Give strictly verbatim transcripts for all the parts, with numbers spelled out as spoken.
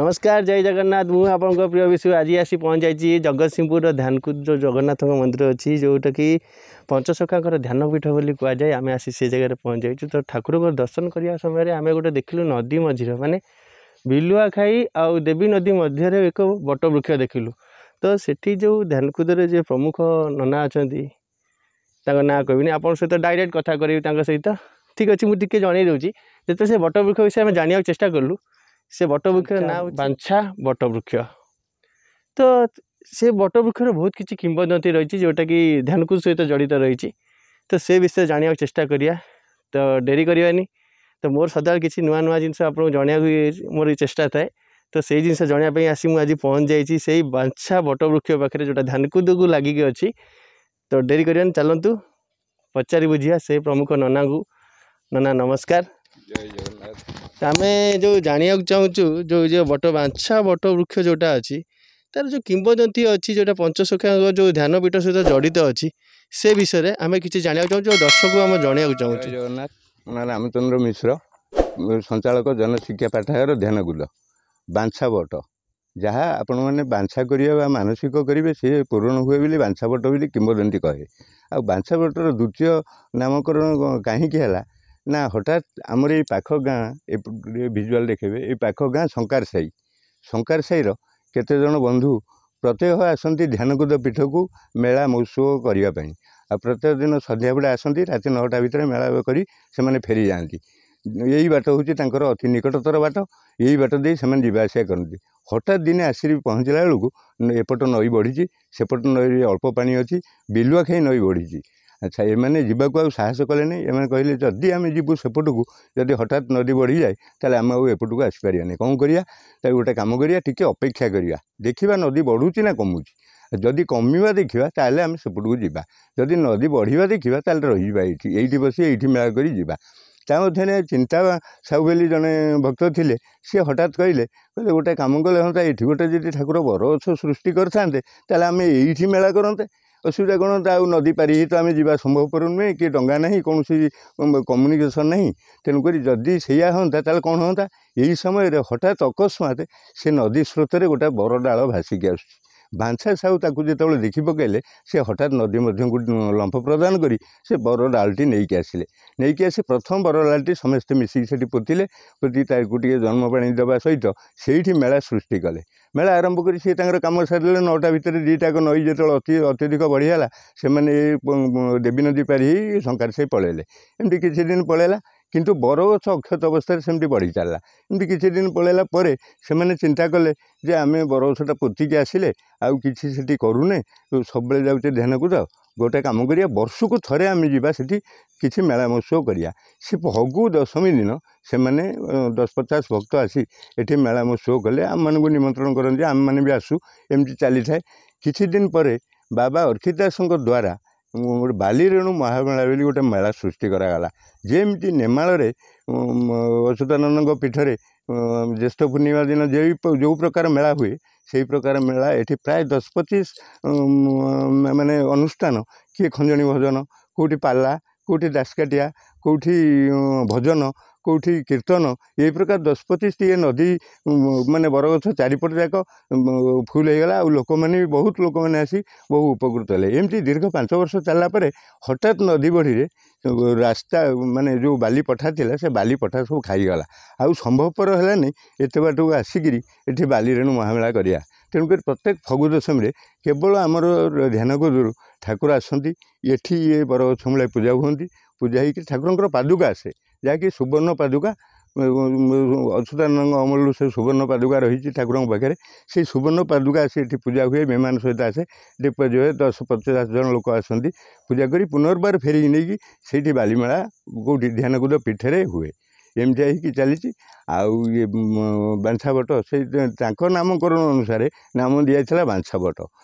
ନମସ୍କାର, ଜୟ ଜଗନ୍ନାଥ। ମୁଁ ଆପଣଙ୍କ ପ୍ରିୟ ବିଷୟ ଆଜି ଆସି ପହଞ୍ଚାଇଛି ଜଗତସିଂହପୁରର ଧ୍ୟାନକୁଦ, ଯେଉଁ ଜଗନ୍ନାଥଙ୍କ ମନ୍ଦିର ଅଛି, ଯେଉଁଟାକି ପଞ୍ଚସଖାଙ୍କର ଧ୍ୟାନପୀଠ ବୋଲି କୁହାଯାଏ। ଆମେ ଆସି ସେ ଜାଗାରେ ପହଞ୍ଚାଇଛୁ। ତ ଠାକୁରଙ୍କ ଦର୍ଶନ କରିବା ସମୟରେ ଆମେ ଗୋଟେ ଦେଖିଲୁ, ନଦୀ ମଝିରେ, ମାନେ ବିଲୁଆ ଖାଇ ଆଉ ଦେବୀ ନଦୀ ମଧ୍ୟରେ ଏକ ବଟବୃକ୍ଷ ଦେଖିଲୁ। ତ ସେଠି ଯେଉଁ ଧ୍ୟାନକୁଦରେ ଯେ ପ୍ରମୁଖ ନନା ଅଛନ୍ତି, ତାଙ୍କ ନାଁ କହିବିନି, ଆପଣଙ୍କ ସହିତ ଡାଇରେକ୍ଟ କଥା କରିବି ତାଙ୍କ ସହିତ। ଠିକ୍ ଅଛି, ମୁଁ ଟିକେ ଜଣେଇ ଦେଉଛି। ଯେତେବେଳେ ସେ ବଟବୃକ୍ଷ ବିଷୟରେ ଆମେ ଜାଣିବାକୁ ଚେଷ୍ଟା କଲୁ, ସେ ବଟବୃକ୍ଷର ନାଁ ବାଞ୍ଛା ବଟବୃକ୍ଷ। ତ ସେ ବଟବୃକ୍ଷର ବହୁତ କିଛି କିମ୍ବଦନ୍ତୀ ରହିଛି, ଯେଉଁଟାକି ଧ୍ୟାନକୁଦ ସହିତ ଜଡ଼ିତ ରହିଛି। ତ ସେ ବିଷୟରେ ଜାଣିବାକୁ ଚେଷ୍ଟା କରିବା। ତ ଡେରି କରିବାନି। ତ ମୋର ସଦାବେଳେ କିଛି ନୂଆ ନୂଆ ଜିନିଷ ଆପଣଙ୍କୁ ଜଣାଇବାକୁ ମୋର ଚେଷ୍ଟା ଥାଏ। ତ ସେଇ ଜିନିଷ ଜଣାଇବା ପାଇଁ ଆସି ମୁଁ ଆଜି ପହଞ୍ଚି ଯାଇଛି ସେଇ ବାଞ୍ଛା ବଟବୃକ୍ଷ ପାଖରେ, ଯେଉଁଟା ଧ୍ୟାନକୁଦକୁ ଲାଗିକି ଅଛି। ତ ଡେରି କରିବାନି, ଚାଲନ୍ତୁ ପଚାରି ବୁଝିବା ସେ ପ୍ରମୁଖ ନନାଙ୍କୁ। ନନା, ନମସ୍କାର। ଜୟ ଜଗନ୍ନାଥ। ଆମେ ଯେଉଁ ଜାଣିବାକୁ ଚାହୁଁଛୁ, ଯେଉଁ ଯେଉଁ ବଟ ବାଞ୍ଛା ବଟ ବୃକ୍ଷ ଯେଉଁଟା ଅଛି, ତାର ଯେଉଁ କିମ୍ବଦନ୍ତୀ ଅଛି, ଯେଉଁଟା ପଞ୍ଚସଖାଙ୍କ ଯେଉଁ ଧ୍ୟାନପୀଠ ସହିତ ଜଡ଼ିତ ଅଛି, ସେ ବିଷୟରେ ଆମେ କିଛି ଜାଣିବାକୁ ଚାହୁଁଛୁ ଆଉ ଦର୍ଶକକୁ ଆମେ ଜଣାଇବାକୁ ଚାହୁଁଛୁ। ଜୟ ଜଗନ୍ନାଥ। ମୋ ନାଁ ରାମଚନ୍ଦ୍ର ମିଶ୍ର, ସଞ୍ଚାଳକ ଜନଶିକ୍ଷା ପାଠାଗାର ଧ୍ୟାନକୁଦ। ବାଞ୍ଛା ବଟ, ଯାହା ଆପଣମାନେ ବାଞ୍ଛା କରିବେ ବା ମାନସିକ କରିବେ, ସେ ପୂରଣ ହୁଏ ବୋଲି ବାଞ୍ଛା ବଟ ବୋଲି କିମ୍ବଦନ୍ତୀ କହେ। ଆଉ ବାଞ୍ଛା ବଟର ଦ୍ୱିତୀୟ ନାମକରଣ କାହିଁକି ହେଲା ନା, ହଠାତ୍ ଆମର ଏଇ ପାଖ ଗାଁ, ଏ ଭିଜୁଆଲ୍ ଦେଖେଇବେ, ଏଇ ପାଖ ଗାଁ ଶଙ୍କାର ସାହି, ଶଙ୍କାର ସାହିର କେତେଜଣ ବନ୍ଧୁ ପ୍ରତ୍ୟହ ଆସନ୍ତି ଧ୍ୟାନକୁଦ ପୀଠକୁ ମେଳା ମହୋତ୍ସବ କରିବା ପାଇଁ। ଆଉ ପ୍ରତ୍ୟେକ ଦିନ ସନ୍ଧ୍ୟାବେଳେ ଆସନ୍ତି, ରାତି ନଅଟା ଭିତରେ ମେଳା କରି ସେମାନେ ଫେରିଯାଆନ୍ତି। ଏଇ ବାଟ ହେଉଛି ତାଙ୍କର ଅତି ନିକଟତର ବାଟ। ଏଇ ବାଟ ଦେଇ ସେମାନେ ଯିବା ଆସିବା କରନ୍ତି। ହଠାତ୍ ଦିନେ ଆସିକି ପହଞ୍ଚିଲା ବେଳକୁ ଏପଟ ନଈ ବଢ଼ିଛି, ସେପଟ ନଈରେ ଅଳ୍ପ ପାଣି ଅଛି, ବିଲୁଆ ଖାଇ ନଈ ବଢ଼ିଛି। ଆଚ୍ଛା, ଏମାନେ ଯିବାକୁ ଆଉ ସାହସ କଲେନି। ଏମାନେ କହିଲେ, ଯଦି ଆମେ ଯିବୁ ସେପଟକୁ, ଯଦି ହଠାତ୍ ନଦୀ ବଢ଼ିଯାଏ, ତାହେଲେ ଆମେ ଆଉ ଏପଟକୁ ଆସିପାରିବାନି। କ'ଣ କରିବା? ତାକୁ ଗୋଟେ କାମ କରିବା, ଟିକେ ଅପେକ୍ଷା କରିବା, ଦେଖିବା ନଦୀ ବଢ଼ୁଛି ନା କମୁଛି। ଯଦି କମିବା ଦେଖିବା, ତାହେଲେ ଆମେ ସେପଟକୁ ଯିବା। ଯଦି ନଦୀ ବଢ଼ିବା ଦେଖିବା, ତାହେଲେ ରହିଯିବା ଏଇଠି, ଏଇଠି ବସି ଏଇଠି ମେଳା କରି ଯିବା। ତା ମଧ୍ୟରେ ଚିନ୍ତା ସାହୁ ବୋଲି ଜଣେ ଭକ୍ତ ଥିଲେ, ସିଏ ହଠାତ୍ କହିଲେ କହିଲେ ଗୋଟେ କାମ କଲେ ହୁଅନ୍ତା, ଏଇଠି ଗୋଟେ ଯଦି ଠାକୁର ବରଗଛ ସୃଷ୍ଟି କରିଥାନ୍ତେ, ତାହେଲେ ଆମେ ଏଇଠି ମେଳା କରନ୍ତେ, ଅସୁବିଧା କ'ଣ? ଆଉ ନଦୀ ପାରି ହେଇ ତ ଆମେ ଯିବା ସମ୍ଭବପର ନୁହେଁ, କି ଡଙ୍ଗା ନାହିଁ, କୌଣସି କମ୍ୟୁନିକେସନ୍ ନାହିଁ। ତେଣୁକରି ଯଦି ସେଇଆ ହୁଅନ୍ତା, ତାହେଲେ କ'ଣ ହୁଅନ୍ତା? ଏଇ ସମୟରେ ହଠାତ୍ ଅକସ୍ମାତ୍ ସେ ନଦୀ ସ୍ରୋତରେ ଗୋଟେ ବର ଡାଳ ଭାସିକି ଆସୁଛି। ବାଞ୍ଛା ସାହୁ ତାକୁ ଯେତେବେଳେ ଦେଖି ପକାଇଲେ, ସେ ହଠାତ୍ ନଦୀ ମଧ୍ୟକୁ ଲମ୍ଫ ପ୍ରଦାନ କରି ସେ ବର ଡାଳଟି ନେଇକି ଆସିଲେ। ନେଇକି ଆସି ପ୍ରଥମ ବର ଡାଳଟି ସମସ୍ତେ ମିଶିକି ସେଠି ପୋତିଲେ। ପୋତି ତାକୁ ଟିକେ ଜନ୍ମ ପାଣି ଦେବା ସହିତ ସେଇଠି ମେଳା ସୃଷ୍ଟି କଲେ। ମେଳା ଆରମ୍ଭ କରି ସିଏ ତାଙ୍କର କାମ ସାରିଲେ ନଅଟା ଭିତରେ। ଦୁଇଟାକ ନଈ ଯେତେବେଳେ ଅତି ଅତ୍ୟଧିକ ବଢ଼ିଗଲା, ସେମାନେ ଦେବୀ ନଦୀ ପାରି ହେଇ ଶଙ୍କାର ସାହି ପଳେଇଲେ। ଏମିତି କିଛି ଦିନ ପଳେଇଲା, କିନ୍ତୁ ବରଗଛ ଅକ୍ଷତ ଅବସ୍ଥାରେ ସେମିତି ବଢ଼ି ଚାଲିଲା। ଏମିତି କିଛି ଦିନ ପଳେଇଲା ପରେ ସେମାନେ ଚିନ୍ତା କଲେ ଯେ ଆମେ ବରଗଛଟା ପୋତିକି ଆସିଲେ, ଆଉ କିଛି ସେଠି କରୁନେ, ସବୁବେଳେ ଯାଉଛେ ଧ୍ୟାନକୁଦ। ଗୋଟେ କାମ କରିବା, ବର୍ଷକୁ ଥରେ ଆମେ ଯିବା, ସେଠି କିଛି ମେଳା ମହୋତ୍ସବ କରିବା। ସେ ଫଗୁ ଦଶମୀ ଦିନ ସେମାନେ ଦଶ ପଚାଶ ଭକ୍ତ ଆସି ଏଠି ମେଳା ମହୋତ୍ସବ କଲେ। ଆମମାନଙ୍କୁ ନିମନ୍ତ୍ରଣ କରନ୍ତି, ଆମେମାନେ ବି ଆସୁ। ଏମିତି ଚାଲିଥାଏ। କିଛି ଦିନ ପରେ ବାବା ଅର୍ଖିତ ଦାସଙ୍କ ଦ୍ୱାରା ଗୋଟେ ବାଲିରେଣୁ ମହାମେଳା ବୋଲି ଗୋଟେ ମେଳା ସୃଷ୍ଟି କରାଗଲା। ଯେମିତି ନେମାଳରେ ଅଚ୍ୟୁତାନନ୍ଦଙ୍କ ପୀଠରେ ଜ୍ୟେଷ୍ଠ ପୂର୍ଣ୍ଣିମା ଦିନ ଯେଉଁ ପ୍ରକାର ମେଳା ହୁଏ, ସେଇ ପ୍ରକାର ମେଳା ଏଠି ପ୍ରାୟ ଦଶ ପଚିଶ ମାନେ ଅନୁଷ୍ଠାନ, କିଏ ଖଞ୍ଜଣି ଭଜନ, କେଉଁଠି ପାଲା, କେଉଁଠି ଦାସକାଠିଆ, କେଉଁଠି ଭଜନ, କେଉଁଠି କୀର୍ତ୍ତନ, ଏଇ ପ୍ରକାର ଦଶ ପଚିଶଟି ଏ ନଦୀ ମାନେ ବରଗଛ ଚାରିପଟ ଯାକ ଫୁଲ୍ ହେଇଗଲା। ଆଉ ଲୋକମାନେ ବି, ବହୁତ ଲୋକମାନେ ଆସି ବହୁ ଉପକୃତ ହେଲେ। ଏମିତି ଦୀର୍ଘ ପାଞ୍ଚ ବର୍ଷ ଚାଲିଲା ପରେ ହଠାତ୍ ନଦୀ ବଢ଼ିରେ ରାସ୍ତା ମାନେ ଯେଉଁ ବାଲି ପଠା ଥିଲା, ସେ ବାଲି ପଠା ସବୁ ଖାଇଗଲା। ଆଉ ସମ୍ଭବପର ହେଲାନି ଏତେ ବାଟକୁ ଆସିକିରି ଏଠି ବାଲିରେଣୁ ମହାମେଳା କରିବା। ତେଣୁକରି ପ୍ରତ୍ୟେକ ଫଗୁ ଦଶମୀରେ କେବଳ ଆମର ଧ୍ୟାନକୁଦରୁ ଠାକୁର ଆସନ୍ତି ଏଠି, ଇଏ ବରଗଛ ମୂଳେ ପୂଜା ହୁଅନ୍ତି। ପୂଜା ହେଇକି ଠାକୁରଙ୍କର ପାଦୁକା ଆସେ, ଯାହାକି ସୁବର୍ଣ୍ଣ ପାଦୁକା। ଅଚ୍ୟୁତାନନ୍ଦଙ୍କ ଅମଳରୁ ସେ ସୁବର୍ଣ୍ଣ ପାଦୁକା ରହିଛି ଠାକୁରଙ୍କ ପାଖରେ। ସେଇ ସୁବର୍ଣ୍ଣ ପାଦୁକା ଆସି ଏଠି ପୂଜା ହୁଏ, ବିମାନ ସହିତ ଆସେ, ଏଠି ପୂଜା ହୁଏ। ଦଶ ପଚାଶ ଜଣ ଲୋକ ଆସନ୍ତି, ପୂଜା କରି ପୁନର୍ବାର ଫେରିକି ନେଇକି ସେଇଠି ବାଲିମେଳା କେଉଁଠି ଧ୍ୟାନକୁଦ ପୀଠରେ ହୁଏ। ଏମିତି ହେଇକି ଚାଲିଛି। ଆଉ ଇଏ ବାଞ୍ଛା ବଟ, ସେଇ ତାଙ୍କ ନାମକରଣ ଅନୁସାରେ ନାମ ଦିଆଯାଇଥିଲା ବାଞ୍ଛା ବଟ।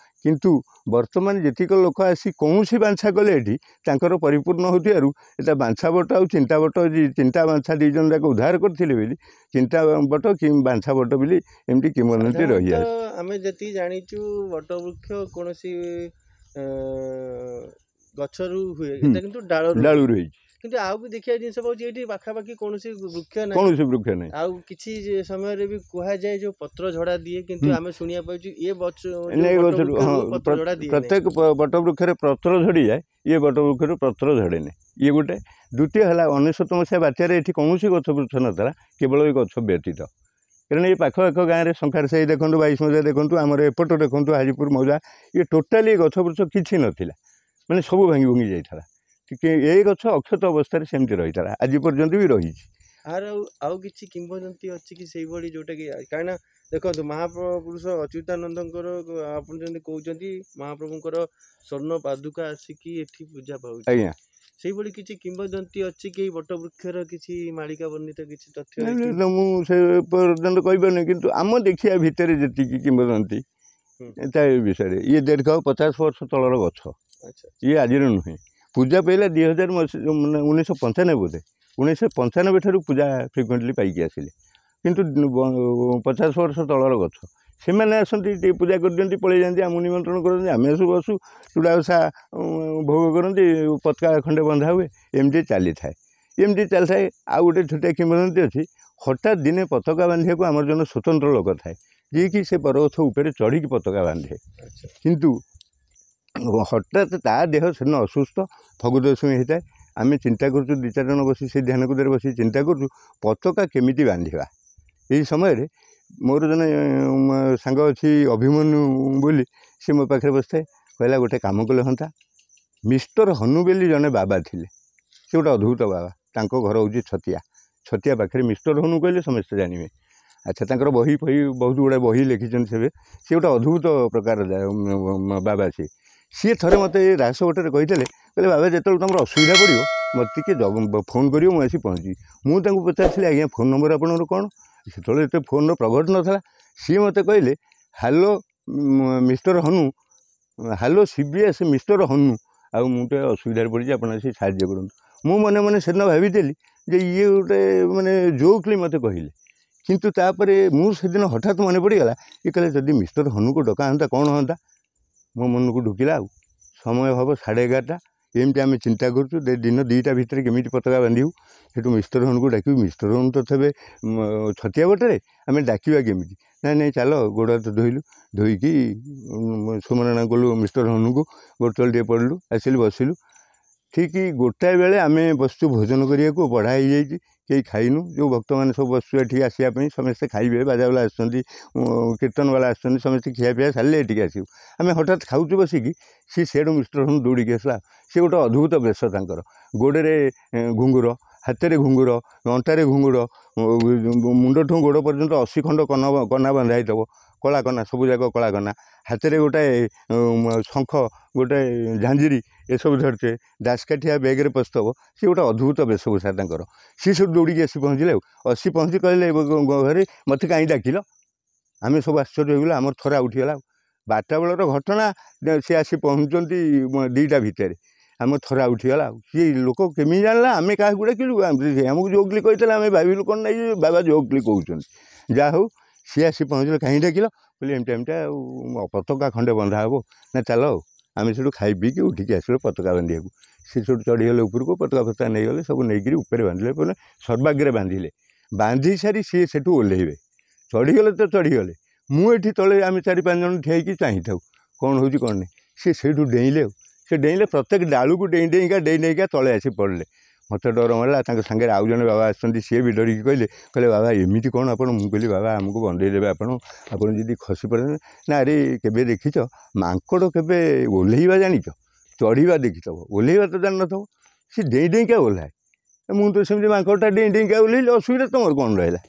କିନ୍ତୁ ବର୍ତ୍ତମାନ ଯେତିକ ଲୋକ ଆସି କୌଣସି ବାଞ୍ଛା କଲେ ଏଠି ତାଙ୍କର ପରିପୂର୍ଣ୍ଣ ହେଉଥିବାରୁ ଏଇଟା ବାଞ୍ଛା ବଟ ଆଉ ଚିନ୍ତା ବଟ, ଚିନ୍ତା ବାଞ୍ଛା ଦୁଇ ଜଣ ଯାକ ଉଦ୍ଧାର କରିଥିଲେ ବୋଲି ଚିନ୍ତା ବଟ କି ବାଞ୍ଛା ବଟ ବୋଲି ଏମିତି କିମ୍ବଦନ୍ତୀ ରହିଆସିଛି। ଆମେ ଯେତିକି ଜାଣିଛୁ, ବଟବୃକ୍ଷ କୌଣସି ଗଛରୁ ହୁଏ, ଏଇଟା କିନ୍ତୁ ଡାଳରୁ ଡାଳରୁ ହେଇଛି। କିନ୍ତୁ ଆଉ ବି ଦେଖିବା ଜିନିଷ ପାଉଛି ଏଇଠି ପାଖାପାଖି କୌଣସି ବୃକ୍ଷ ନାହିଁ। କୌଣସି ବୃକ୍ଷ ନାହିଁ। ଆଉ କିଛି ସମୟରେ ବି କୁହାଯାଏ ଯୋଉ ପତ୍ର ଝଡା ଦିଏ, କିନ୍ତୁ ଆମେ ଶୁଣିବା ପାଉଛୁ ଏ ଗଛ ଗଛରୁ, ହଁ, ପ୍ରତ୍ୟେକ ବଟ ବୃକ୍ଷରେ ପତ୍ର ଝଡ଼ିଯାଏ, ଇଏ ବଟ ବୃକ୍ଷରୁ ପତ୍ର ଝଡ଼େନି। ଇଏ ଗୋଟେ। ଦ୍ୱିତୀୟ ହେଲା ଅନେଶତ ମସିହା ବାତ୍ୟାରେ ଏଠି କୌଣସି ଗଛ ବୃକ୍ଷ ନଥିଲା, କେବଳ ଏ ଗଛ ବ୍ୟତୀତ। କାରଣ ଏ ପାଖ ପାଖ ଗାଁରେ ଶଙ୍ଖାର ସାହି ଦେଖନ୍ତୁ, ବାଇଶ ମୌଜା ଦେଖନ୍ତୁ, ଆମର ଏପଟ ଦେଖନ୍ତୁ ହାଜିପୁର ମୌଜା, ଇଏ ଟୋଟାଲି ଗଛ ବୃକ୍ଷ କିଛି ନଥିଲା, ମାନେ ସବୁ ଭାଙ୍ଗି ଭୁଙ୍ଗି ଯାଇଥିଲା। ଟିକେ ଏ ଗଛ ଅକ୍ଷତ ଅବସ୍ଥାରେ ସେମିତି ରହିଥିଲା, ଆଜି ପର୍ଯ୍ୟନ୍ତ ବି ରହିଛି। ଆର ଆଉ ଆଉ କିଛି କିମ୍ବଦନ୍ତୀ ଅଛି କି ସେଇଭଳି, ଯୋଉଟାକି, କାହିଁକିନା ଦେଖନ୍ତୁ ମହାପୁରୁଷ ଅଚ୍ୟୁତାନନ୍ଦଙ୍କର, ଆପଣ ଯେମିତି କହୁଛନ୍ତି ମହାପ୍ରଭୁଙ୍କର ସ୍ୱର୍ଣ୍ଣ ପାଦୁକା ଆସିକି ଏଠି ପୂଜା ପାଉଛି? ଆଜ୍ଞା। ସେଇଭଳି କିଛି କିମ୍ବଦନ୍ତୀ ଅଛି କି ବଟ ବୃକ୍ଷର କିଛି ମାଳିକା ବର୍ଣ୍ଣିତ କିଛି ତଥ୍ୟ? ମୁଁ ସେ ପର୍ଯ୍ୟନ୍ତ କହିପାରୁନି, କିନ୍ତୁ ଆମ ଦେଖିବା ଭିତରେ ଯେତିକି କିମ୍ବଦନ୍ତୀ ତା ବିଷୟରେ, ଇଏ ଦୀର୍ଘ ପଚାଶ ବର୍ଷ ତଳର ଗଛ, ଇଏ ଆଜିର ନୁହେଁ। ପୂଜା ପାଇଲା ଦୁଇ ହଜାର ମାନେ ଉଣେଇଶହ ପଞ୍ଚାନବେ ବୋଧେ, ଉଣେଇଶହ ପଞ୍ଚାନବେ ଠାରୁ ପୂଜା ଫ୍ରିକୁଏଣ୍ଟଲି ପାଇକି ଆସିଲେ, କିନ୍ତୁ ପଚାଶ ବର୍ଷ ତଳର ଗଛ। ସେମାନେ ଆସନ୍ତି, ଟିକେ ପୂଜା କରିଦିଅନ୍ତି, ପଳେଇ ଯାଆନ୍ତି। ଆମକୁ ନିମନ୍ତ୍ରଣ କରନ୍ତି, ଆମେ ସବୁ ବସୁ, ଚୁଡ଼ା ଓଷା ଭୋଗ କରନ୍ତି, ପତାକା ଖଣ୍ଡେ ବନ୍ଧା ହୁଏ, ଏମିତି ଚାଲିଥାଏ, ଏମିତି ଚାଲିଥାଏ। ଆଉ ଗୋଟେ ଛୋଟିଆ କିମ୍ବଦନ୍ତୀ ଅଛି। ହଠାତ୍ ଦିନେ ପତାକା ବାନ୍ଧିବାକୁ ଆମର ଜଣେ ସ୍ୱତନ୍ତ୍ର ଲୋକ ଥାଏ, ଯିଏକି ସେ ବରଗଛ ଉପରେ ଚଢ଼ିକି ପତାକା ବାନ୍ଧେ। କିନ୍ତୁ ହଠାତ୍ ତା ଦେହ ସେଦିନ ଅସୁସ୍ଥ, ଫଗୁ ଦଶମୀ ହେଇଥାଏ। ଆମେ ଚିନ୍ତା କରୁଛୁ, ଦୁଇ ଚାରି ଜଣ ବସି ସେ ଧ୍ୟାନକୁଦରେ ବସି ଚିନ୍ତା କରୁଛୁ ପତାକା କେମିତି ବାନ୍ଧିବା। ଏହି ସମୟରେ ମୋର ଜଣେ ସାଙ୍ଗ ଅଛି ଅଭିମନ୍ୟୁ ବୋଲି, ସେ ମୋ ପାଖରେ ବସିଥାଏ। କହିଲା ଗୋଟେ କାମ କଲେ ହୁଅନ୍ତା। ମିଷ୍ଟର ହନୁ ବୋଲି ଜଣେ ବାବା ଥିଲେ, ସେ ଗୋଟେ ଅଦ୍ଭୁତ ବାବା। ତାଙ୍କ ଘର ହେଉଛି ଛତିଆ, ଛତିଆ ପାଖରେ। ମିଷ୍ଟର ହନୁ କହିଲେ ସମସ୍ତେ ଜାଣିବେ। ଆଚ୍ଛା, ତାଙ୍କର ବହି ଫହି ବହୁତ ଗୁଡ଼ାଏ ବହି ଲେଖିଛନ୍ତି ସେବେ। ସେ ଗୋଟେ ଅଦ୍ଭୁତ ପ୍ରକାର ବାବା ସିଏ। ସିଏ ଥରେ ମୋତେ ରାସ ଗୋଟେରେ କହିଥିଲେ, କହିଲେ ବାବା ଯେତେବେଳେ ତୁମର ଅସୁବିଧା ପଡ଼ିବ ମୋତେ ଟିକେ ଫୋନ୍ କରିବ, ମୁଁ ଆସି ପହଞ୍ଚିବି। ମୁଁ ତାଙ୍କୁ ପଚାରିଥିଲି, ଆଜ୍ଞା ଫୋନ୍ ନମ୍ବର ଆପଣଙ୍କର କ'ଣ? ସେତେବେଳେ ଏତେ ଫୋନ୍ର ପ୍ରଘଟ ନଥିଲା। ସିଏ ମୋତେ କହିଲେ, hello mister Hanu, hello C B S mister Hanu, ଆଉ ମୁଁ ଟିକେ ଅସୁବିଧାରେ ପଡ଼ିଛି, ଆପଣ ଆସି ସାହାଯ୍ୟ କରନ୍ତୁ। ମୁଁ ମନେ ମନେ ସେଦିନ ଭାବିଥିଲି ଯେ ଇଏ ଗୋଟେ ମାନେ ଜୋକ୍ଲି ମୋତେ କହିଲେ, କିନ୍ତୁ ତାପରେ ମୁଁ ସେଦିନ ହଠାତ୍ ମନେ ପଡ଼ିଗଲା, ଇଏ କହିଲେ ଯଦି ମିଷ୍ଟର ହନୁକୁ ଡକା ହୁଅନ୍ତା କ'ଣ ହୁଅନ୍ତା? ମୋ ମନକୁ ଢୁକିଲା। ଆଉ ସମୟ ହେବ ସାଢ଼େ ଏଗାରଟା, ଏମିତି ଆମେ ଚିନ୍ତା କରୁଛୁ ଦିନ ଦୁଇଟା ଭିତରେ କେମିତି ପତାକା ବାନ୍ଧିବୁ, ସେଠୁ ମିଷ୍ଟର ହନୁକୁ ଡାକିବୁ। ମିଷ୍ଟର ହନୁ ତ ଥେବେ ଛତିଆ ବଟରେ, ଆମେ ଡାକିବା କେମିତି? ନାଇଁ ନାଇଁ ଚାଲ। ଗୋଡ଼ ହାତ ଧୋଇଲୁ, ଧୋଇକି ସୁମରଣା କଲୁ ମିଷ୍ଟର ହନୁକୁ, ଗୋଡ଼ ତଳେ ଟିକେ ପଡ଼ିଲୁ, ଆସିଲୁ ବସିଲୁ। ଠିକ୍ ଗୋଟାଏ ବେଳେ ଆମେ ବସିଛୁ ଭୋଜନ କରିବାକୁ, ବଢ଼ା ହେଇଯାଇଛି, କେହି ଖାଇନୁ। ଯେଉଁ ଭକ୍ତମାନେ ସବୁ ବସିଛୁ ଏଠିକି ଆସିବା ପାଇଁ, ସମସ୍ତେ ଖାଇବେ, ବାଜାବାଲା ଆସୁଛନ୍ତି, କୀର୍ତ୍ତନବାଲା ଆସୁଛନ୍ତି, ସମସ୍ତେ ଖିଆପିଆ ସାରିଲେ ଏଠିକି ଆସିବୁ। ଆମେ ହଠାତ୍ ଖାଉଛୁ ବସିକି, ସିଏ ସିଆଡ଼ୁ ମିଷ୍ଟର ହନୁ ଦୌଡ଼ିକି ଆସିଲା। ସିଏ ଗୋଟେ ଅଦ୍ଭୁତ ବେଶ ତାଙ୍କର, ଗୋଡ଼ରେ ଘୁଙ୍ଗୁର, ହାତରେ ଘୁଙ୍ଗୁର, ଅଣ୍ଟାରେ ଘୁଙ୍ଗୁର, ମୁଣ୍ଡଠୁ ଗୋଡ଼ ପର୍ଯ୍ୟନ୍ତ ଅଶୀ ଖଣ୍ଡ କନା କନା ବନ୍ଧା ହେଇଥିବ, କଳା କନା, ସବୁ ଯାକ କଳା କନା। ହାତରେ ଗୋଟାଏ ଶଙ୍ଖ, ଗୋଟାଏ ଝାଞ୍ଜିରି ଏସବୁ ଧରିଥିବେ, ଦାସକାଠିଆ ବେଗରେ ପଶିଥିବ। ସିଏ ଗୋଟେ ଅଦ୍ଭୁତ ବେଶଭୂଷା ତାଙ୍କର। ସିଏ ସବୁ ଦୌଡ଼ିକି ଆସି ପହଞ୍ଚିଲେ। ଆଉ ଆସି ପହଞ୍ଚି କହିଲେ, ଘରେ ମୋତେ କାହିଁ ଡାକିଲ? ଆମେ ସବୁ ଆଶ୍ଚର୍ଯ୍ୟ ହେଇଗଲୁ, ଆମର ଥରା ଉଠିଗଲା। ବାରଟା ବେଳର ଘଟଣା, ସେ ଆସି ପହଞ୍ଚୁଛନ୍ତି ଦୁଇଟା ଭିତରେ, ଆମ ଥରା ଉଠିଗଲା। ଆଉ ସିଏ ଲୋକ କେମିତି ଜାଣିଲା ଆମେ କାହାକୁ ଡାକିଲୁ? ଆମକୁ ଜୋକଲି କହିଥିଲେ, ଆମେ ଭାବିଲୁ କ'ଣ ନାଇଁ ବାବା ଜୋକଲି କହୁଛନ୍ତି। ଯାହା ହଉ, ସିଏ ଆସି ପହଞ୍ଚିଲେ, କାହିଁ ଡାକିଲ? କହିଲେ ଏମିତି ଏମିତି, ଆଉ ପତାକା ଖଣ୍ଡେ ବନ୍ଧା ହେବ। ନା ଚାଲ। ଆଉ ଆମେ ସେଠୁ ଖାଇ ପିଇକି ଉଠିକି ଆସିଲୁ ପତାକା ବାନ୍ଧିବାକୁ। ସେ ସେଠୁ ଚଢ଼ିଗଲେ ଉପରକୁ, ପତାକା ଫତାକା ନେଇଗଲେ, ସବୁ ନେଇକିରି ଉପରେ ବାନ୍ଧିଲେ, ବୋଲେ ସର୍ବାଗ୍ରେ ବାନ୍ଧିଲେ। ବାନ୍ଧି ସାରି ସିଏ ସେଠୁ ଓହ୍ଲେଇବେ, ଚଢ଼ିଗଲେ ତ ଚଢ଼ିଗଲେ, ମୁଁ ଏଠି ତଳେ ଆମେ ଚାରି ପାଞ୍ଚ ଜଣ ଠିଆ ହେଇକି ଚାହିଁଥାଉ କ'ଣ ହେଉଛି କ'ଣ ନାହିଁ। ସିଏ ସେଇଠୁ ଡେଇଁଲେ, ଆଉ ସେ ଡେଇଁଲେ ପ୍ରତ୍ୟେକ ଡାଳୁକୁ ଡେଇଁ ଡେଇଁକା ଡେଇଁ ଡେଇଁକା ତଳେ ଆସି ପଡ଼ିଲେ। ମୋତେ ଡର ମାଡ଼ିଲା। ତାଙ୍କ ସାଙ୍ଗରେ ଆଉ ଜଣେ ବାବା ଆସିଛନ୍ତି, ସିଏ ବି ଡରିକି କହିଲେ, କହିଲେ ବାବା ଏମିତି କ'ଣ ଆପଣ? ମୁଁ କହିଲି ବାବା ଆମକୁ ବନ୍ଧେଇ ଦେବେ ଆପଣ, ଆପଣ ଯଦି ଖସି ପଡ଼େ ନା। ଆରେ କେବେ ଦେଖିଛ ମାଙ୍କଡ଼ କେବେ ଓହ୍ଲେଇବା ଜାଣିଛ? ଚଢ଼ିବା ଦେଖିଥିବ, ଓହ୍ଲେଇବା ତ ଜାଣିନଥିବ। ସେ ଡେଇଁ ଡେଇଁକା ଓହ୍ଲାଏ, ମୁଁ ତ ସେମିତି ମାଙ୍କଡ଼ଟା ଡେଇଁ ଡେଇଁକା ଓହ୍ଲେଇଲି, ଅସୁବିଧା ତୁମର କ'ଣ ରହିଲା?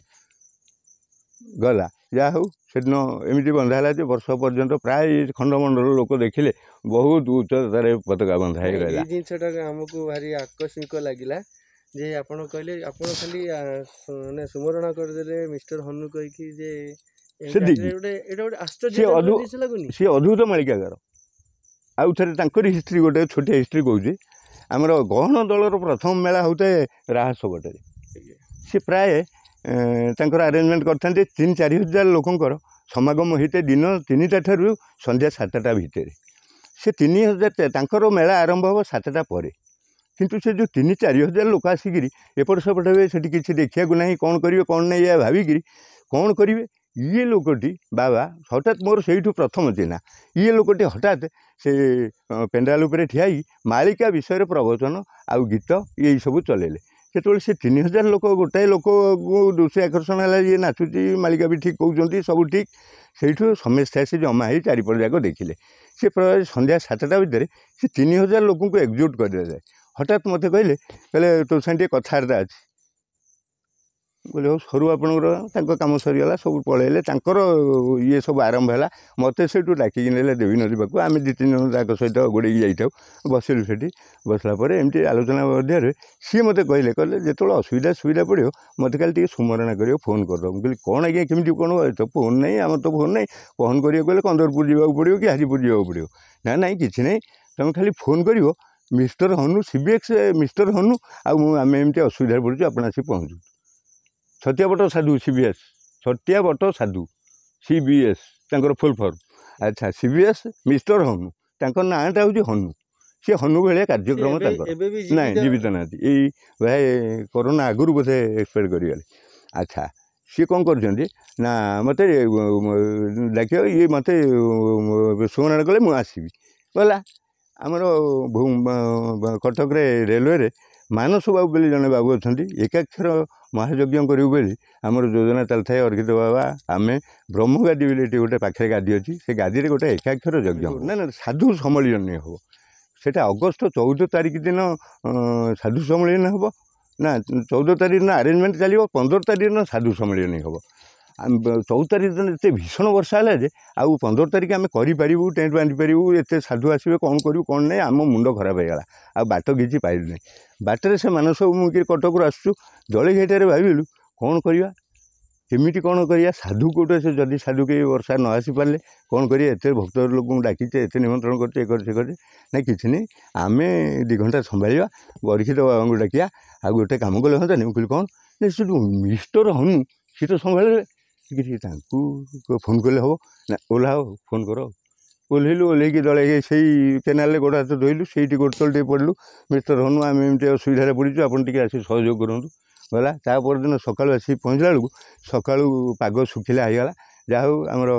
ଗଲା। ଯାହା ହଉ, ସେଦିନ ଏମିତି ବନ୍ଧା ହେଲା ଯେ ବର୍ଷ ପର୍ଯ୍ୟନ୍ତ ପ୍ରାୟ ଖଣ୍ଡମଣ୍ଡଳ ଲୋକ ଦେଖିଲେ, ବହୁତ ଉଚ୍ଚତାରେ ପତାକା ବନ୍ଧା ହେଇ ରହିଲା। ଏଇ ଜିନିଷଟା ଆମକୁ ଭାରି ଆକସ୍ମିକ ଲାଗିଲା ଯେ ଆପଣ କହିଲେ, ଆପଣ ଖାଲି ମାନେ ସୁମରଣା କରିଦେଲେ ମିଷ୍ଟର ହନୁ କହିକି ଯେ ସେତିକି। ଏଇଟା ଗୋଟେ ଆଶ୍ଚର୍ଯ୍ୟ ଜିନିଷ ଲାଗୁନି? ସିଏ ଅଦ୍ଭୁତ ମାଳିକାଗାର। ଆଉ ଥରେ ତାଙ୍କରି ହିଷ୍ଟ୍ରି, ଗୋଟେ ଛୋଟିଆ ହିଷ୍ଟ୍ରି କହୁଛି। ଆମର ଗହଣ ଦଳର ପ୍ରଥମ ମେଳା ହେଉଥାଏ ରାହାସ ବଟରେ। ସେ ପ୍ରାୟ ତାଙ୍କର ଆରେଞ୍ଜମେଣ୍ଟ କରିଥାନ୍ତି, ତିନି ଚାରି ହଜାର ଲୋକଙ୍କର ସମାଗମ ହୋଇଥାଏ ଦିନ ତିନିଟା ଠାରୁ ସନ୍ଧ୍ୟା ସାତଟା ଭିତରେ। ସେ ତିନି ହଜାର, ତାଙ୍କର ମେଳା ଆରମ୍ଭ ହେବ ସାତଟା ପରେ। କିନ୍ତୁ ସେ ଯେଉଁ ତିନି ଚାରି ହଜାର ଲୋକ ଆସିକିରି ଏପଟ ସେପଟ ହେବେ, ସେଠି କିଛି ଦେଖିବାକୁ ନାହିଁ, କ'ଣ କରିବେ କ'ଣ ନାହିଁ ଏହା ଭାବିକିରି କ'ଣ କରିବେ। ଇଏ ଲୋକଟି ବାବା ହଠାତ୍ ମୋର ସେଇଠୁ ପ୍ରଥମ ଚିହ୍ନା। ଇଏ ଲୋକଟି ହଠାତ୍ ସେ ପେଣ୍ଡାଲ ଉପରେ ଠିଆ ହେଇ ମାଳିକା ବିଷୟରେ ପ୍ରବଚନ ଆଉ ଗୀତ ଏଇସବୁ ଚଲେଇଲେ। ସେତେବେଳେ ସେ ତିନି ହଜାର ଲୋକ, ଗୋଟାଏ ଲୋକକୁ ଦୃଷ୍ଟି ଆକର୍ଷଣ ହେଲା, ଇଏ ନାଚୁଛି, ମାଳିକା ବି ଠିକ୍ କହୁଛନ୍ତି, ସବୁ ଠିକ୍। ସେଇଠୁ ସମସ୍ତେ ଆସି ଜମା ହେଇ ଚାରିପଟ ଯାକ ଦେଖିଲେ। ସେ ପ୍ରାୟ ସନ୍ଧ୍ୟା ସାତଟା ଭିତରେ ସେ ତିନି ହଜାର ଲୋକଙ୍କୁ ଏକଜୁଟ କରିଦେଲେ। ହଠାତ୍ ମୋତେ କହିଲେ, କହିଲେ ତୋ ସାଙ୍ଗେ ଟିକେ କଥାବାର୍ତ୍ତା ଅଛି। କହିଲି ହଉ ସରୁ ଆପଣଙ୍କର। ତାଙ୍କ କାମ ସରିଗଲା, ସବୁ ପଳେଇଲେ, ତାଙ୍କର ଇଏ ସବୁ ଆରମ୍ଭ ହେଲା। ମୋତେ ସେଇଠୁ ଡାକିକି ନେଲେ ଦେବୀ ନଦୀ ପାଖକୁ। ଆମେ ଦୁଇ ତିନି ଜଣ ତାଙ୍କ ସହିତ ଗୋଡ଼େଇକି ଯାଇଥାଉ। ବସିଲୁ ସେଠି। ବସିଲା ପରେ ଏମିତି ଆଲୋଚନା ମଧ୍ୟରେ ସିଏ ମୋତେ କହିଲେ, କହିଲେ ଯେତେବେଳେ ଅସୁବିଧା ସୁବିଧା ପଡ଼ିବ ମୋତେ ଖାଲି ଟିକେ ସୁମରଣା କରିବ, ଫୋନ୍ କରିଦେବ। ମୁଁ କହିଲି କ'ଣ ଆଜ୍ଞା, କେମିତି କ'ଣ, ତ ଫୋନ୍ ନାହିଁ, ଆମର ତ ଫୋନ୍ ନାହିଁ, ଫୋନ୍ କରିବାକୁ ହେଲେ କନ୍ଦରପୁର ଯିବାକୁ ପଡ଼ିବ କି ହାଜିପୁର ଯିବାକୁ ପଡ଼ିବ। ନା ନାଇଁ କିଛି ନାହିଁ, ତୁମେ ଖାଲି ଫୋନ୍ କରିବ ମିଷ୍ଟର ହନୁ, ସିବିଏକ୍ସ ମିଷ୍ଟର ହନୁ, ଆଉ ମୁଁ ଆମେ ଏମିତି ଅସୁବିଧାରେ ପଡ଼ୁଛୁ, ଆପଣ ଆସି ପହଞ୍ଚୁ। ଛତିଆବଟ ସାଧୁ ସିବିଏସ୍, ଛତିଆବଟ ସାଧୁ ସିବିଏସ୍ ତାଙ୍କର ଫୁଲ୍ ଫର୍ମ। ଆଚ୍ଛା, ସିବିଏସ୍ ମିଷ୍ଟର ହନୁ, ତାଙ୍କ ନାଁଟା ହେଉଛି ହନୁ। ସେ ହନୁ ଭଳିଆ କାର୍ଯ୍ୟକ୍ରମ ତାଙ୍କର। ନାଇଁ, ଜୀବିତ ନାହାନ୍ତି, ଏଇ ଭାଇ କରୋନା ଆଗରୁ ବୋଧେ ଏକ୍ସପାୟାର କରିଗଲେ। ଆଚ୍ଛା, ସିଏ କ'ଣ କରୁଛନ୍ତି ନା ମୋତେ ଡାକିବ, ଇଏ ମୋତେ ସୁମରଣ କଲେ ମୁଁ ଆସିବି। ଗଲା ଆମର କଟକରେ ରେଲୱେରେ ମାନସ ବାବୁ ବୋଲି ଜଣେ ବାବୁ ଅଛନ୍ତି। ଏକାକ୍ଷର ମହାଯଜ୍ଞ କରିବୁ ବୋଲି ଆମର ଯୋଜନା ଚାଲିଥାଏ। ଅର୍କିତ ବାବା, ଆମେ ବ୍ରହ୍ମଗାଦି ବୋଲି ଏଠି ଗୋଟେ ପାଖରେ ଗାଦି ଅଛି, ସେ ଗାଦିରେ ଗୋଟେ ଏକାକ୍ଷର ଯଜ୍ଞ, ନା ନା ସାଧୁ ସମ୍ମିଳନୀ ହେବ। ସେଇଟା ଅଗଷ୍ଟ ଚଉଦ ତାରିଖ ଦିନ ସାଧୁ ସମ୍ମିଳନୀ ହେବ, ନା ଚଉଦ ତାରିଖ ଦିନ ଆରେଞ୍ଜମେଣ୍ଟ ଚାଲିବ, ପନ୍ଦର ତାରିଖ ଦିନ ସାଧୁ ସମ୍ମିଳନୀ ହେବ। ଚଉଦ ତାରିଖ ଦିନ ଏତେ ଭୀଷଣ ବର୍ଷା ହେଲା ଯେ ଆଉ ପନ୍ଦର ତାରିଖ ଆମେ କରିପାରିବୁ, ଟେଣ୍ଟ ବାନ୍ଧିପାରିବୁ, ଏତେ ସାଧୁ ଆସିବେ, କ'ଣ କରିବୁ କ'ଣ ନାହିଁ, ଆମ ମୁଣ୍ଡ ଖରାପ ହେଇଗଲା। ଆଉ ବାଟ କିଛି ପାଇଲୁନି। ବାଟରେ ସେ ମାନସ ମୁଁ କି କଟକରୁ ଆସୁଛୁ, ଜଳିଘାଇଟାରେ ଭାବିଲୁ କ'ଣ କରିବା, କେମିତି କ'ଣ କରିବା, ସାଧୁ କେଉଁଠୁ ସେ ଯଦି ସାଧୁ କେହି ବର୍ଷା ନ ଆସିପାରିଲେ କ'ଣ କରିବା, ଏତେ ଭକ୍ତ ଲୋକଙ୍କୁ ଡାକିଛେ, ଏତେ ନିମନ୍ତ୍ରଣ କରୁଛେ, ଏ କରୁଛେ କରୁଛେ। ନାଇଁ କିଛି ନାହିଁ, ଆମେ ଦୁଇ ଘଣ୍ଟା ସମ୍ଭାଳିବା, ପରୀକ୍ଷିତ ବାବାଙ୍କୁ ଡାକିବା, ଆଉ ଗୋଟେ କାମ କଲେ ହୁଅନ୍ତାନି? ମୁଁ କହିଲି କ'ଣ? ନା ସେ ଯେଉଁ ମିଷ୍ଟର ହନୁ ସିଏ ତ ସମ୍ଭାଳିବେ କିଛି, ତାଙ୍କୁ ଫୋନ୍ କଲେ ହେବ ନା? ଓହ୍ଲାଅ, ଫୋନ୍ କର। ଓହ୍ଲେଇଲୁ, ଓହ୍ଲେଇକି ଦଳେ ସେଇ କେନାଲରେ ଗୋଡ଼ ହାତ ଧୋଇଲୁ, ସେଇଠି ଗୋଡ଼ ତଳେ ଟିକେ ପଡ଼ିଲୁ। ମିଷ୍ଟର ହନୁ, ଆମେ ଏମିତି ଅସୁବିଧାରେ ପଡ଼ିଛୁ, ଆପଣ ଟିକେ ଆସି ସହଯୋଗ କରନ୍ତୁ। ଗଲା ତା ପରଦିନ ସକାଳୁ ଆସିକି ପହଞ୍ଚିଲା ବେଳକୁ ସକାଳୁ ପାଗ ଶୁଖିଲା ହେଇଗଲା। ଯାହା ହଉ, ଆମର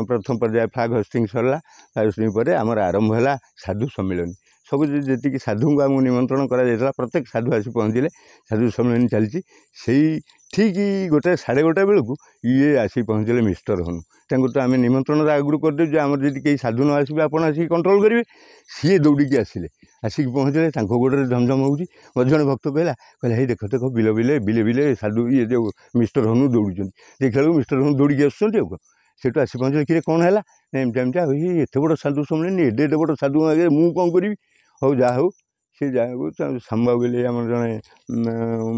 ପ୍ରଥମ ପର୍ଯ୍ୟାୟ ଫ୍ଲାଗ୍ ହୋଷ୍ଟିଂ ସରିଲା। ଫ୍ଲାଗ୍ ହୋଷ୍ଟିଂ ପରେ ଆମର ଆରମ୍ଭ ହେଲା ସାଧୁ ସମ୍ମିଳନୀ। ସବୁ ଯେତିକି ସାଧୁଙ୍କୁ ଆମକୁ ନିମନ୍ତ୍ରଣ କରାଯାଇଥିଲା, ପ୍ରତ୍ୟେକ ସାଧୁ ଆସି ପହଞ୍ଚିଲେ। ସାଧୁ ସମ୍ମିଳନୀ ଚାଲିଛି, ସେଇ ଠିକ୍ ଗୋଟେ ସାଢ଼େ ଗୋଟେ ବେଳକୁ ଇଏ ଆସି ପହଞ୍ଚିଲେ ମିଷ୍ଟର ହନୁ। ତାଙ୍କୁ ତ ଆମେ ନିମନ୍ତ୍ରଣ ଆଗରୁ କରିଦେଉଛୁ, ଆମର ଯଦି କେହି ସାଧୁ ନ ଆସିବେ ଆପଣ ଆସିକି କଣ୍ଟ୍ରୋଲ୍ କରିବେ। ସିଏ ଦୌଡ଼ିକି ଆସିଲେ, ଆସିକି ପହଞ୍ଚିଲେ, ତାଙ୍କ ଗୋଡ଼ରେ ଝମଝମ ହେଉଛି। ମୋତେ ଜଣେ ଭକ୍ତ କହିଲା, କହିଲା ହେଇ ଦେଖ ଦେଖ, ବିଲ ବିଲେ ବିଲେ ବିଲେ ସାଧୁ ଇଏ ଯେଉଁ ମିଷ୍ଟର ହନୁ ଦୌଡ଼ୁଛନ୍ତି। ଦେଖିଲା ବେଳକୁ ମିଷ୍ଟର ହନୁ ଦୌଡ଼ିକି ଆସୁଛନ୍ତି। ଆଉ କ'ଣ, ସେଠୁ ଆସି ପହଞ୍ଚିଲେ, କିରେ କ'ଣ ହେଲା? ନା ଏମିତି ଏମିତି। ଆଉ ଏତେ ବଡ଼ ସାଧୁ ସମ୍ମିଳନୀ, ଏଡ଼େ ଏଡ଼େ ବଡ଼ ସାଧୁ ଆଗରେ ମୁଁ କ'ଣ କରିବି? ହଉ ଯାହା ହଉ, ସେ ଯାହାକୁ ଶ୍ୟାମବାବୁ ବୋଲି ଆମର ଜଣେ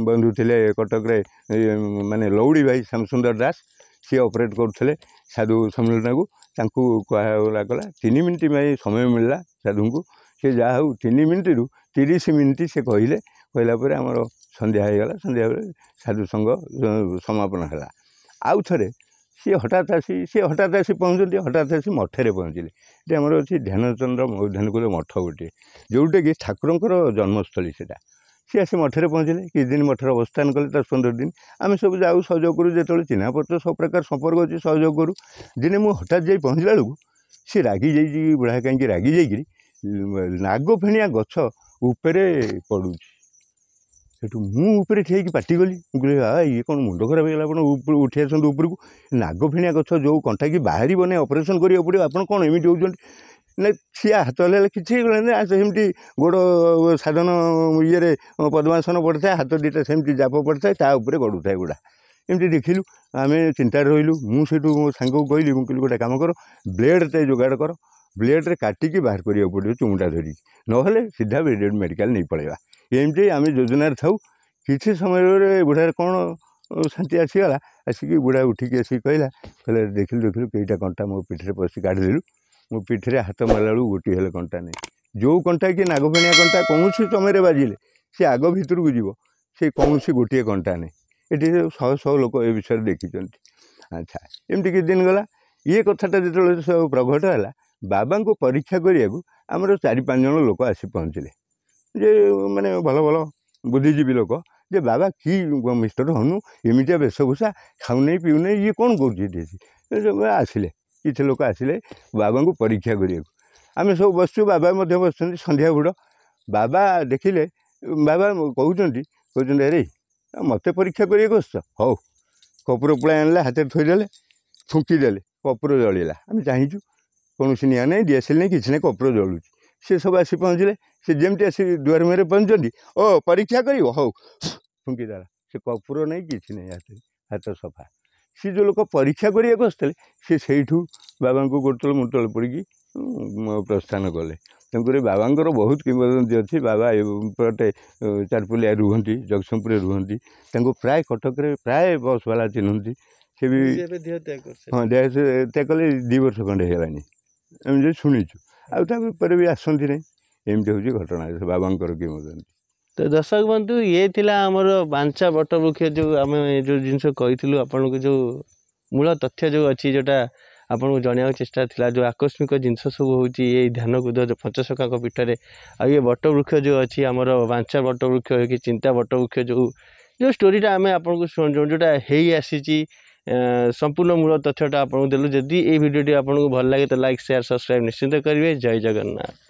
ବନ୍ଧୁ ଥିଲେ କଟକରେ, ମାନେ ଲଉଡ଼ି ଭାଇ ଶ୍ୟାମସୁନ୍ଦର ଦାସ, ସିଏ ଅପରେଟ୍ କରୁଥିଲେ ସାଧୁ ସମ୍ମିଳନୀଟାକୁ। ତାଙ୍କୁ କୁହାଗଲା କଲା, ତିନି ମିନିଟ୍ ପାଇଁ ସମୟ ମିଳିଲା ସାଧୁଙ୍କୁ। ସେ ଯାହା ହଉ ତିନି ମିନିଟ୍ରୁ ତିରିଶ ମିନିଟ୍ ସେ କହିଲେ। କହିଲା ପରେ ଆମର ସନ୍ଧ୍ୟା ହେଇଗଲା। ସନ୍ଧ୍ୟା ବେଳେ ସାଧୁ ସଂଘ ସମାପନ ହେଲା। ଆଉ ଥରେ ସିଏ ହଠାତ୍ ଆସି ସିଏ ହଠାତ୍ ଆସି ପହଞ୍ଚନ୍ତି, ହଠାତ୍ ଆସି ମଠରେ ପହଞ୍ଚିଲେ। ଏଠି ଆମର ଅଛି ଧ୍ୟାନଚନ୍ଦ୍ର ଧ୍ୟାନକୁଦ ମଠ ଗୋଟିଏ, ଯେଉଁଟାକି ଠାକୁରଙ୍କର ଜନ୍ମସ୍ଥଳୀ ସେଇଟା। ସିଏ ଆସି ମଠରେ ପହଞ୍ଚିଲେ, କିଛି ଦିନ ମଠରେ ଅବସ୍ଥାନ କଲେ, ଦଶ ପନ୍ଦର ଦିନ। ଆମେ ସବୁ ଯାଉ, ସହଯୋଗ କରୁ, ଯେତେବେଳେ ଚିହ୍ନା ପରିଚୟ ସବୁ ପ୍ରକାର ସମ୍ପର୍କ ଅଛି ସହଯୋଗ କରୁ। ଦିନେ ମୁଁ ହଠାତ୍ ଯାଇ ପହଞ୍ଚିଲା ବେଳକୁ ସିଏ ରାଗି ଯାଇଛି ବୁଢ଼ା। କାହିଁକି ରାଗି ଯାଇକିରି ନାଗଫେଣିଆ ଗଛ ଉପରେ ପଡ଼ୁଛି। ସେଠୁ ମୁଁ ଉପରେ ଠିଆ ହେଇକି ପାଟି କଲି। ମୁଁ କହିଲି, ଆ ଇଏ କ'ଣ ମୁଣ୍ଡ ଖରାପ ହେଇଗଲା? ଆପଣ ଉଠି ଆସନ୍ତୁ ଉପରକୁ। ନାଗଫେଣିଆ ଗଛ ଯେଉଁ କଣ୍ଟା କି ବାହାରିବ ନାହିଁ, ଅପରେସନ୍ କରିବାକୁ ପଡ଼ିବ, ଆପଣ କ'ଣ ଏମିତି ହେଉଛନ୍ତି? ନା ସିଏ ହାତ ହଲେଇଲେ, କିଛି ହେଇଗଲାନି, ସେମିତି ଗୋଡ଼ ସାଧନ ଇଏରେ ପଦ୍ମାସନ ପଡ଼ିଥାଏ, ହାତ ଦୁଇଟା ସେମିତି ଜାପ ପଡ଼ିଥାଏ, ତା ଉପରେ ଗଡ଼ୁଥାଏ ଗୁଡ଼ା। ଏମିତି ଦେଖିଲୁ, ଆମେ ଚିନ୍ତାରେ ରହିଲୁ। ମୁଁ ସେଇଠୁ ମୋ ସାଙ୍ଗକୁ କହିଲି, ମୁଁ କହିଲି ଗୋଟେ କାମ କର, ବ୍ଲେଡ଼୍ଟେ ଯୋଗାଡ଼ କର, ବ୍ଲେଡ଼୍ରେ କାଟିକି ବାହାର କରିବାକୁ ପଡ଼ିବ ଚୁମୁଟା ଧରିକି, ନହେଲେ ସିଧା ମେଡ଼ିକାଲ ନେଇ ପଳେଇବା। ଏମିତି ଆମେ ଯୋଜନାରେ ଥାଉ। କିଛି ସମୟରେ ବୁଢ଼ାରେ କ'ଣ ଶାନ୍ତି ଆସିଗଲା। ଆସିକି ବୁଢ଼ା ଉଠିକି ଆସିକି କହିଲା, କହିଲା ଦେଖିଲୁ ଦେଖିଲୁ, କେଇଟା କଣ୍ଟା ମୋ ପିଠିରେ ପଶି କାଢ଼ିଦେଲୁ। ମୋ ପିଠିରେ ହାତ ମାରିଲା ବେଳକୁ ଗୋଟିଏ ହେଲେ କଣ୍ଟା ନାହିଁ। ଯେଉଁ କଣ୍ଟା କି ନାଗଫେଣିଆ କଣ୍ଟା କୌଣସି ସମୟରେ ବାଜିଲେ ସେ ଆଗ ଭିତରକୁ ଯିବ, ସେ କୌଣସି ଗୋଟିଏ କଣ୍ଟା ନାହିଁ। ଏଠି ଶହ ଶହ ଲୋକ ଏ ବିଷୟରେ ଦେଖିଛନ୍ତି। ଆଚ୍ଛା, ଏମିତି କିଛି ଦିନ ଗଲା। ଇଏ କଥାଟା ଯେତେବେଳେ ସବୁ ପ୍ରଘଟ ହେଲା, ବାବାଙ୍କୁ ପରୀକ୍ଷା କରିବାକୁ ଆମର ଚାରି ପାଞ୍ଚ ଜଣ ଲୋକ ଆସି ପହଞ୍ଚିଲେ। ଯେ ମାନେ ଭଲ ଭଲ ବୁଦ୍ଧିଜୀବୀ ଲୋକ, ଯେ ବାବା କି ମିଷ୍ଟର ହନୁ, ଏମିତିଆ ବେଶଭୂଷା, ଖାଉନେଇ ପିଉନେଇ, ଇଏ କ'ଣ କରୁଛି ଏଠି? ଆସିଲେ କିଛି ଲୋକ, ଆସିଲେ ବାବାଙ୍କୁ ପରୀକ୍ଷା କରିବାକୁ। ଆମେ ସବୁ ବସିଛୁ, ବାବା ମଧ୍ୟ ବସିଛନ୍ତି। ସନ୍ଧ୍ୟା ବୁଡ଼ ବାବା ଦେଖିଲେ, ବାବା କହୁଛନ୍ତି କହୁଛନ୍ତି ଆରେ ମୋତେ ପରୀକ୍ଷା କରିବାକୁ ଆସୁଛ? ହଉ। କର୍ପୂର ପୁଳାଏ ଆଣିଲେ, ହାତରେ ଥୋଇଦେଲେ, ଫୁଙ୍କିଦେଲେ, କର୍ପୂର ଜଳିଲା। ଆମେ ଚାହିଁଛୁ, କୌଣସି ନିଆଁ ନାହିଁ, ଡିଆସିଲ ନାହିଁ, କିଛି ନାହିଁ, କର୍ପୂର ଜଳୁଛି। ସେ ସବୁ ଆସି ପହଞ୍ଚିଲେ। ସେ ଯେମିତି ଆସି ଦୁଆର ମୁହଁରେ ପହଞ୍ଚନ୍ତି, ଓ ପରୀକ୍ଷା କରିବ, ହଉ, ଫୁଙ୍କିଦେଲା। ସେ କର୍ପୂର ନାହିଁ, କିଛି ନାହିଁ, ହାତରେ ହାତ ସଫା। ସେ ଯେଉଁ ଲୋକ ପରୀକ୍ଷା କରିବାକୁ ଆସିଥିଲେ, ସେ ସେଇଠୁ ବାବାଙ୍କୁ ଗୋଡ଼ ତଳେ ମୁଣ୍ଡ ତଳେ ପଡ଼ିକି ପ୍ରସ୍ଥାନ କଲେ। ତେଣୁକରି ବାବାଙ୍କର ବହୁତ କିମ୍ବଦନ୍ତୀ ଅଛି। ବାବା ଏପଟେ ଚାରିପୁଲିଆ ରୁହନ୍ତି, ଜଗତସିଂହପୁରରେ ରୁହନ୍ତି। ତାଙ୍କୁ ପ୍ରାୟ କଟକରେ ପ୍ରାୟ ବସ୍ ବାଲା ଚିହ୍ନନ୍ତି। ସେ ବି ହଁ ଦେହ ତ୍ୟାଗ କଲେ ଦୁଇ ବର୍ଷ ଖଣ୍ଡେ ହେଇଗଲାଣି, ଏମିତି ଶୁଣିଛୁ। ଆଉ ତାପରେ ବି ଆସନ୍ତି ନାହିଁ। ଏମିତି ହେଉଛି ଘଟଣା ସେ ବାବାଙ୍କର କିମ୍ବଦନ୍ତୀ। ତ ଦର୍ଶକ ବନ୍ଧୁ, ଇଏ ଥିଲା ଆମର ବାଞ୍ଚା ବଟବୃକ୍ଷ, ଯେଉଁ ଆମେ ଯେଉଁ ଜିନିଷ କହିଥିଲୁ ଆପଣଙ୍କୁ, ଯେଉଁ ମୂଳ ତଥ୍ୟ ଯେଉଁ ଅଛି, ଯେଉଁଟା ଆପଣଙ୍କୁ ଜଣାଇବାକୁ ଚେଷ୍ଟା ଥିଲା, ଯେଉଁ ଆକସ୍ମିକ ଜିନିଷ ସବୁ ହେଉଛି ଏଇ ଧ୍ୟାନକୁଦ ପଞ୍ଚସଖାଙ୍କ ପୀଠରେ। ଆଉ ଇଏ ବଟବୃକ୍ଷ ଯେଉଁ ଅଛି ଆମର ବାଞ୍ଚା ବଟବୃକ୍ଷ କି ଚିନ୍ତା ବଟବୃକ୍ଷ, ଯେଉଁ ଯେଉଁ ଷ୍ଟୋରିଟା ଆମେ ଆପଣଙ୍କୁ ଯେଉଁଟା ହେଇ ଆସିଛି, ସମ୍ପୂର୍ଣ୍ଣ ମୂଳ ତଥ୍ୟଟା ଆପଣଙ୍କୁ ଦେଲୁ। ଯଦି ଏଇ ଭିଡ଼ିଓଟି ଆପଣଙ୍କୁ ଭଲ ଲାଗେ ତ ଲାଇକ୍, ସେୟାର, ସବସ୍କ୍ରାଇବ୍ ନିଶ୍ଚିନ୍ତ କରିବେ। ଜୟ ଜଗନ୍ନାଥ।